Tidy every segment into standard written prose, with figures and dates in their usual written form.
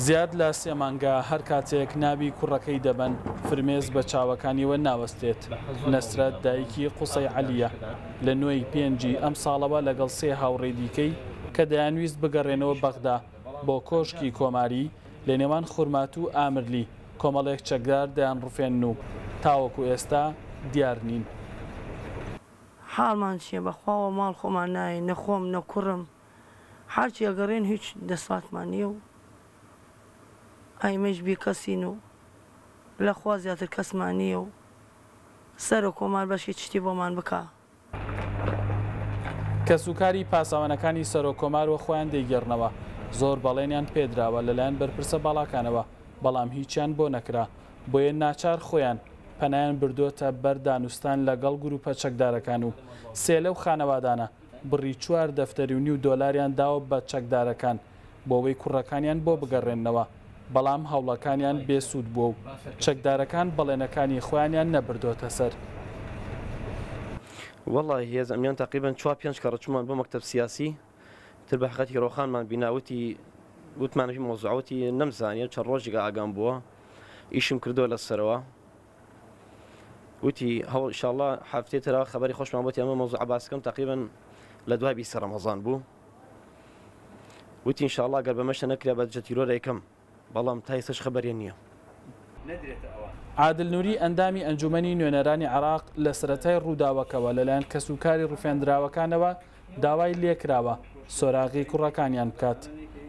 زیاد لە سێ مانگە هەر کاتێک ناوی کوڕەکەی دەبەن، فرمێسک بە چاوەکانیەوە ناوەستێت. نەسرەت دایکی قوسەی عەلییە، لە نۆی پێنجی ئەمساڵەوە لەگەڵ سێ هاوڕێی دیکەی کە دەیانویست بگەڕێنەوە بەغدا بۆ کۆشکی کۆماری، لە نێوان خورماتوو و ئامرلی کۆمەڵێک چەکدار دەیانڕفێنن و تاوەکو ئێستا دیار نین. حاڵمان چیە بەخوا وە ماڵ خۆمان نایەین نە خۆم نە کوڕم هەرچی ئەگەڕێن هیچ دەسڵاتمان نیە و ئایمەیش بیکەسین و لە خوا زیاتر کەسمان نیە و سەرۆک کۆمار بەشی چشتی بۆمان بکا. کەسوکاری پاسەوانەکانی سەرۆک کۆمار وە خۆیان دەیگێڕنەوە، زۆر بەڵێنیان پێدراوە لەلایەن بەرپرسە باڵاکانەوە، بەڵام هیچیان بۆ نەکرا، بۆیە ناچار خۆیان پەنایان بردۆتە بەر دانوستان لەگەڵ گروپە چەکدارەکان و سێ لەو خانەوادانە بڕی چوار دەفتەری و نیو دۆلاریان داوە بە چەکدارەکان بۆوەی کوڕەکانیان بۆ بگەڕێننەوە، بەڵام هەوڵەکانیان بێ سوود بووە و چەکدارەکان بەڵێنەکانی خۆیانیان نەبردۆتە سەر. وەڵاهی هێز ئەمنیان تەقریبەن چوار پێنج کەڕە چوومان بۆ مەکتەب سیاسی تر بە حەقیقەتی ڕۆخانمان بینا وتی وتمان هی مەوزوعە وتی نەمزانیە چەند ڕۆژێکە ئاگام بووە ئیشم کردووە لەسەرەوە وتی هەوڵ ئیشاڵڵا هەفتەی ترەوە خەبەری خۆشمان بۆتی ئەمە مەوزوعە باسکەم تەقریبەن لە دوای بیستی ڕەمەزان بوو وتی ئینشاڵڵا گەر بەمەشە نەکرا بە دژە تیرۆر ئەیکەم بەڵام تا ئێستاش خەبەریان نییە. عادل نوری ئەندامی ئەنجومەنی نوێنەرانی عێراق لە سەرەتای ڕووداوەکەوە لەلایەن کەسوکاری ڕفێندراوەکانەوە داوای لێکراوە سۆراغی کوڕەکانیان بکات،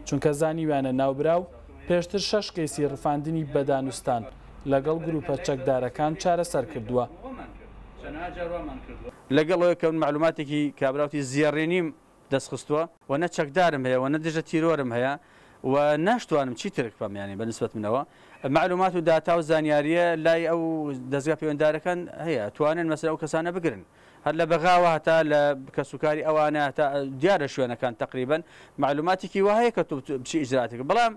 چونکە زانیویانە ناوبراو پێشتر شەش کەیسی ڕفاندنی بە دانوستان لەگەڵ گروپە چەکدارەکان چارەسەر کردووە. لەگەڵ ئەوەی کە من مەعلوماتێکی کابراوتی زێڕینیم دەست خستووە و نە چەکدارم هەیە و نە دژە تیرۆرم هەیە و ناشتوانم چی ترک بکەم یانی بە نسبەت منەوە مەعلومات و داتا و زانیاریە لای ئەو دەزگا پەیوەندارەکان هەیە توانن مەسەلەن ئەو کەسانە بگرن هەر لە بەغاوە هەتا لە کەسوکاری ئەوانە هەتا دیارە شوێنەکان تەقریبەن مەعلوماتێکی وا هەیە کە تۆ بچی ئیجرائاتێک بەڵام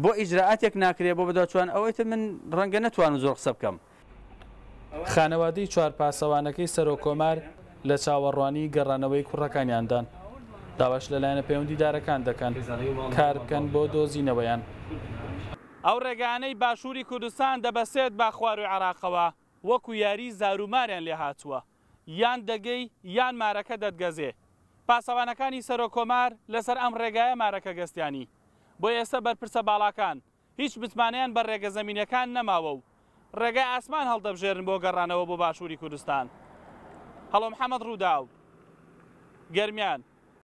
بۆ ئیجرائاتێک ناکرێ بۆ بەدواچوان ئەوەی تر من ڕەنگە نەتوانم زۆر قسە بکەم. خانەوادەی چوار پاسەوانەکەی سەرۆککۆمار لە چاوەڕوانی گەڕانەوەی کوڕەکانیاندان، داواش لە لایەنە پەیوەندیدارەکان دەکەن کاربکەن بۆ دۆزینەوەیان. ئەو ڕێگایانەی باشووری کوردستان دەبەسێت بە خوارووی عێراقەوە وەکو یاری زاروماریان لێهاتووە، یان دەگەی یان مارەکە دەتگەزێ. پاسەوانەکانی سەرۆککۆمار لەسەر ئەم ڕێگایە مارەکە گەستیانی. بۆیە ئێستا بەرپرسە باڵاکان هیچ متمانەیان بە ڕێگە زەمینیەکان نەماوە و ڕێگای ئاسمان هەڵدەبژێرن بۆ گەڕانەوە بۆ باشووری کوردستان. هەڵۆ محەمەد ڕووداو، گەرمیان.